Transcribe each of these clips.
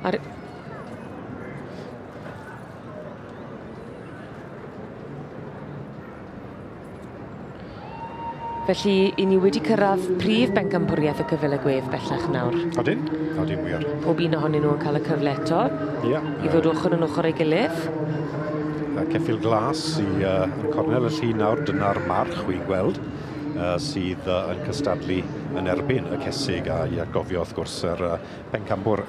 Ar... Felly, i ni wedi cyrraedd prif bencampwriaeth y Cyfele Gwedd bellach nawr. Odyn, odyn wir. Pob un ohonyn nhw yn cael y cyfle eto. Ia. I ddod ochr yn ochr ei gilydd. Y ceffyl glas i yn cornel y llun nawr, dyna'r march wy'n gweld, sydd yn cystadlu yn erbyn y cesig, a i atgofio wrth gwrs yr pencampwr,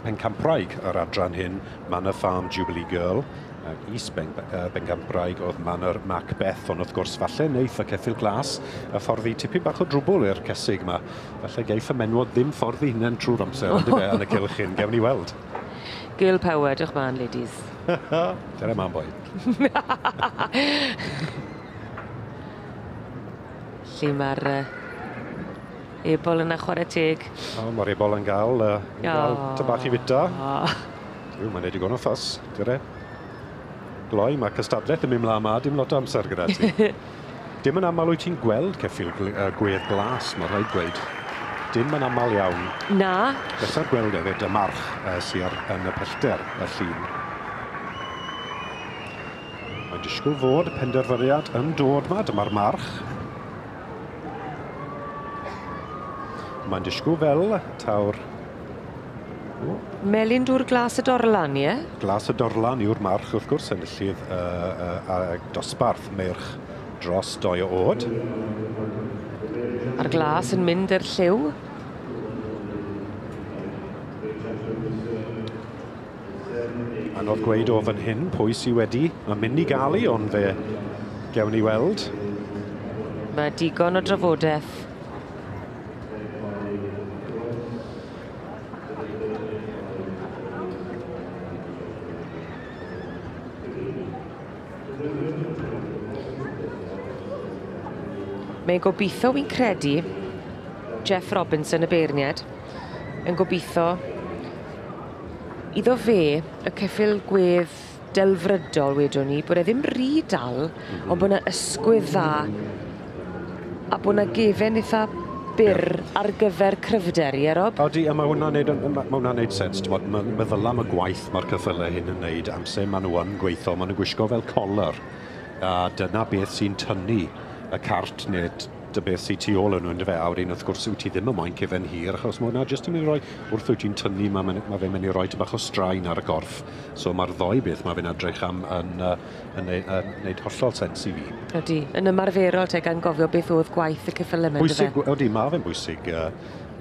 pencampwraig yr adran hyn, Manor Farm Jubilee Girl, ac is bencampwraig oedd Manor Macbeth, ond wrth gwrs falle neith y ceffyl glas y ffordd i tipyn bach o drwbl i'r cesig yma. Falle geiff y menwod ddim ffordd i hunain trwy'r amser, ondife, yn y cylch hyn, gewn ni weld. Girl power, diolch man, ladies. Dere man, boi. Lle mae'r ebol yna chwarae teg. O, mae'r ebol yn gael, yn gael ty bach i fita. Duw, mae'n neud digon o ffys, dere. Gloi, mae cystadlaeth yn mynd mlaen ma, dim lot o amser gyda ti. Dim yn aml wyt ti'n gweld ceffyl gwedd glas, mae rhaid gweud. Dim yn aml iawn. Na. Pleser gweld hefyd y march sy ar, yn y pellter, y llun. Mae'n disgwyl fod penderfyniad yn dod ma, dyma'r march. Mae'n disgwyl fel tawr... O. Melyn dŵr glas y Dorlan, ie? Glas y Dorlan yw'r march, wrth gwrs, enillydd dosbarth meirch dros 2 o oed. A'r glas yn mynd i'r lliw. Anodd gweud o fan hyn pwy sy wedi. Mae'n mynd i gael ei, ond fe gewn ni weld. Mae digon o drafodaeth. Mae'n gobeithio, wy'n credu, Jeff Robinson, y beirniad, yn gobeithio iddo fe y ceffyl gwedd delfrydol, wedwn ni, bod e ddim rhy dal, ond bod 'na ysgwydd dda a bod 'na gefen eitha byr ar gyfer cryfder, ie, Rob? Odi, a mae hwnna'n neud, ma' hwnna'n neud sens, t'mod, meddyla am y gwaith mae'r ceffylau hyn yn neud, amser maen nhw yn gweithio, maen nhw'n gwisgo fel collar, a dyna beth sy'n tynnu y cart neu dy beth sy'n tu ôl yn nhw, yndyfe? A wedyn, wrth gwrs, wyt ti ddim yn moyn cefen hir, achos mae hwnna jyst yn mynd i roi, wrth wyt ti'n tynnu, mae fe'n mynd i roi tipyn bach o straen ar y gorff. So mae'r ddoi beth mae fe'n edrych am yn neud hollol sens i fi. Ydy, yn ymarferol te, gan gofio beth oedd gwaith y ceffylau yma, yndyfe? Bwysig, ydy, mae fe'n bwysig,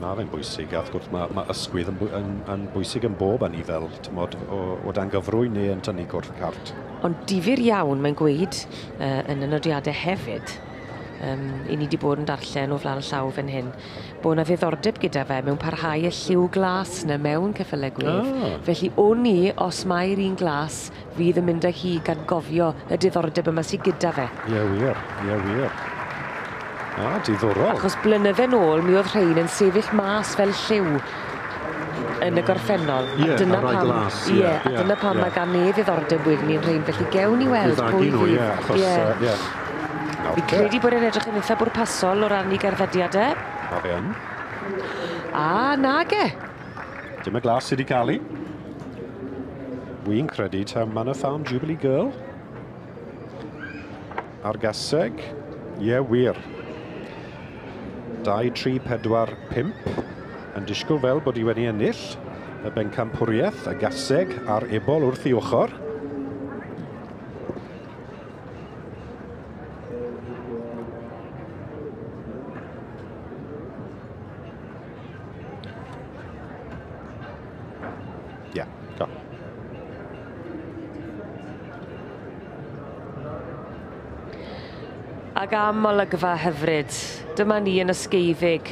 mae fe'n bwysig, a wrth gwrs mae ysgwydd yn bwysig yn bob anifel, t'mod, o dan gyfrwy neu yn tynnu cwrdd cart. Ond difyr iawn, mae'n gweud, yn y nodiadau hefyd, i ni wedi bod yn darllen o flaen llaw fan hyn, bod 'na ddiddordeb gyda fe mewn parhau y lliw glas 'na mewn ceffylau gwedd. Felly o'n i, os mai'r un glas fydd yn mynd â hi gan gofio y diddordeb yma sydd gyda fe. Ie wir, ie wir. A, diddorol. Achos blynydde nôl, mi oedd rhain yn sefyll mas fel lliw yn y gorffennol. Ie, a a rai glas. Ie, a dyna pam mae gan e ddiddordeb wedyn ni'n rhain, felly gewn ni weld pwy fydd. Ie, achos, ie. Fi credu bod e'n edrych yn eitha bwrpasol o ran ei gerddediadau. Ma fe yn. A, nage. Dim y glas sydd wedi cael ei. Wy'n credu taw Manor Farm Jubilee Girl. A'r gaseg. Ie, wir. 2, 3, 4, 5. Yn disgwyl fel bod hi wedi ennill y bencampwriaeth, y gaseg a'r ebol wrth ei ochr. Ie, go. Ac am olygfa hyfryd, dyma ni yn Ysgeiddig.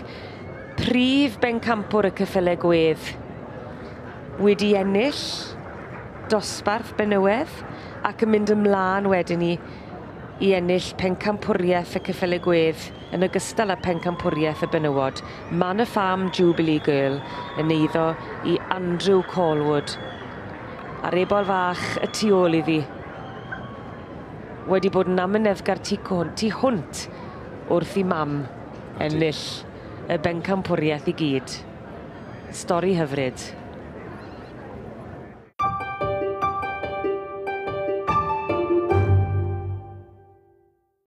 Prif bencampwr y ceffylau gwedd wedi ennill dosbarth benywedd ac yn mynd ymlaen wedyn ni i ennill pencampwriaeth y ceffylau gwedd yn ogystal â pencampwriaeth y benywod. Manor Farm Jubilee Girl yn eiddo i Andrew Callwood. A'r ebol fach y tu ôl iddi wedi bod yn amyneddgar tu hwnt wrth i mam ennill y bencampwriaeth i gyd. Stori hyfryd.